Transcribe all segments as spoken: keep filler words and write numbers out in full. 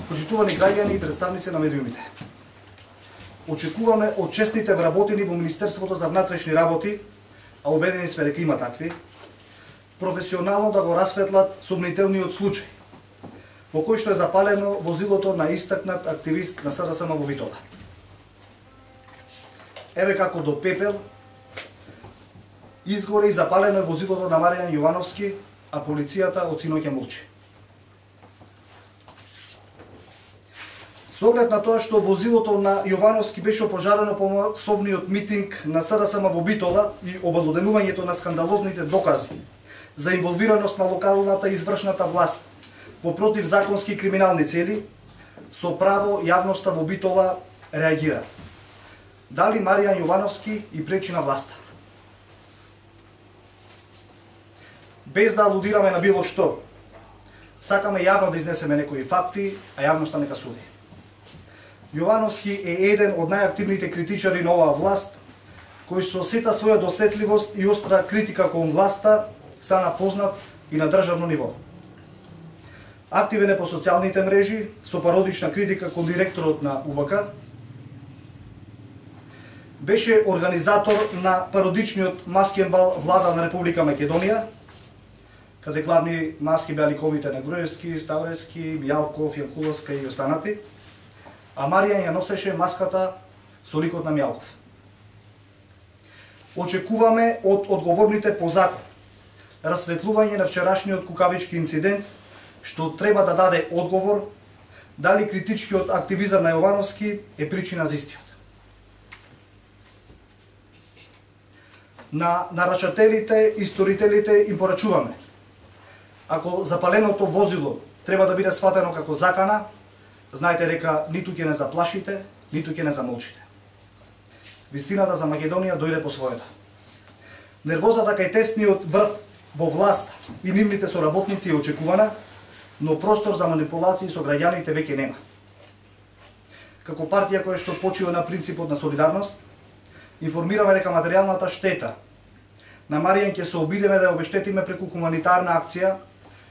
Почитувани граѓани и представници на медиумите. Очекуваме од честните вработени во Министерството за внатрешни работи, а убедени сме дека има такви, професионално да го расветлат сумнителниот случај, во кој што е запалено возилото на истакнат активист на СДСМ во Битола. Еве како до пепел изгоре и запалено е возилото на Маријан Јовановски, а полицијата од синоќа молчи. Со оглед на тоа што возилото на Јовановски беше опожарено по масовниот митинг на СДСМ во Битола и обелоденувањето на скандалозните докази за инволвираност на локалната извршната власт во противзаконски криминални цели, со право јавноста во Битола реагира. Дали Маријан Јовановски и пречи на власта? Без да алудираме на било што, сакаме јавно да изнесеме некои факти, а јавноста нека суди. Јовановски е еден од најактивните критичари на оваа власт, кој со сета своја досетливост и остра критика кон власта стана познат и на државно ниво. Активен е по социјалните мрежи, со пародична критика кон директорот на У Б К. Беше организатор на пародичниот маскен бал влада на Република Македонија, каде главни маски беа ликовите на Груевски, Ставревски, Мијалков, Јанкуловска и останати, а Маријан ја носеше маската со ликот на Мијалков. Очекуваме од одговорните по закон расветлување на вчерашниот кукавички инцидент, што треба да даде одговор дали критичкиот активизам на Јовановски е причина за истиот. На нарачателите и сторителите им порачуваме: ако запаленото возило треба да биде сватено како закана, знаете дека ниту ќе не заплашите, ниту ќе не замолчите. Вистината за Македонија дојде по своето. Нервозата кај тесниот врв во власт и нивните соработници е очекувана, но простор за манипулации со граѓаните веќе нема. Како партија која што почива на принципот на солидарност, информираме дека материјалната штета на Маријан ќе се обидеме да ја обештетиме преку хуманитарна акција,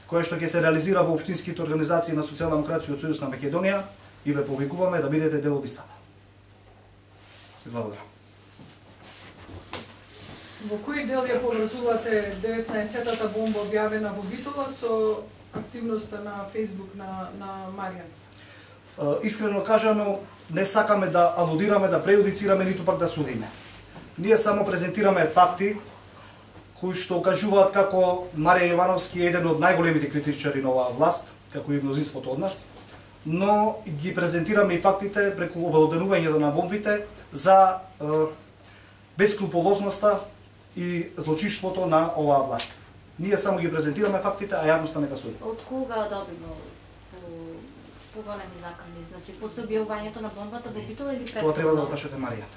која што ќе се реализира во општинските организации на Социјалдемократскиот сојуз на Македонија, и ве повикуваме да бидете дел од истата. Благодарам. Во кој дел ја поврзувате деветнаесеттата бомба објавена во Битола со активноста на Facebook на, на Маријан? Искрено кажано, не сакаме да алудираме, да преюдицираме, ниту пак да судиме. Ние само презентираме факти кои што окажуваат како Маријан Јовановски е еден од најголемите критичари на оваа власт, како и мнозинството од нас, но ги презентираме и фактите преку обелоденувањето на бомбите за е, бескрупулозноста и злочинството на оваа власт. Ние само ги презентираме фактите, а јавноста нека суди. Од кога добино поголеми закани? Значи, после објавувањето на бомбата во Битола или пред? Тоа треба да го прашате Марија.